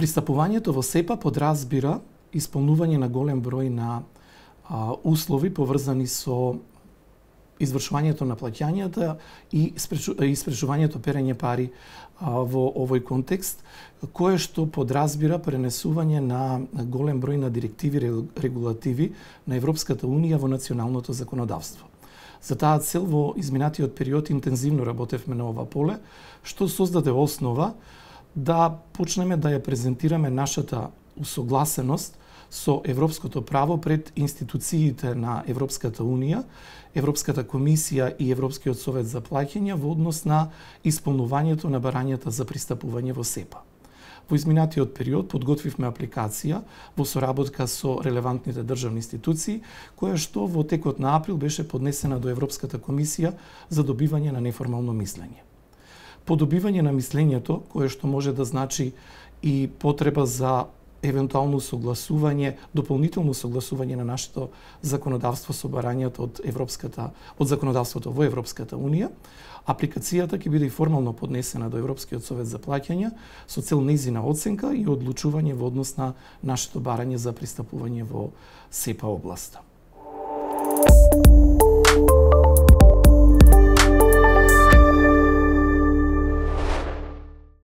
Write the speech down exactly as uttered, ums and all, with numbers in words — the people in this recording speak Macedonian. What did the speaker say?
Пристапувањето во СЕПА подразбира исполнување на голем број на а, услови поврзани со извршувањето на плаќањата и испречувањето перење пари а, во овој контекст, кое што подразбира пренесување на голем број на директиви, регулативи на Европската Унија во националното законодавство. За таа цел во изминатиот период интензивно работевме на ова поле, што создаде основа да почнеме да ја презентираме нашата усогласеност со европското право пред институциите на Европската Унија, Европската комисија и Европскиот совет за плаќања во однос на исполнувањето на барањата за пристапување во СЕПА. Во изминатиот период подготвивме апликација во соработка со релевантните државни институции, која што во текот на април беше поднесена до Европската комисија за добивање на неформално мислење. По добивање на мислењето, кое што може да значи и потреба за евентуално согласување, дополнително согласување на нашето законодавство со барањата од европската од законодавството во Европската Унија, апликацијата ќе биде и формално поднесена до Европскиот совет за плаќања со цел нејзина оценка и одлучување во однос на нашето барање за пристапување во СЕПА областа.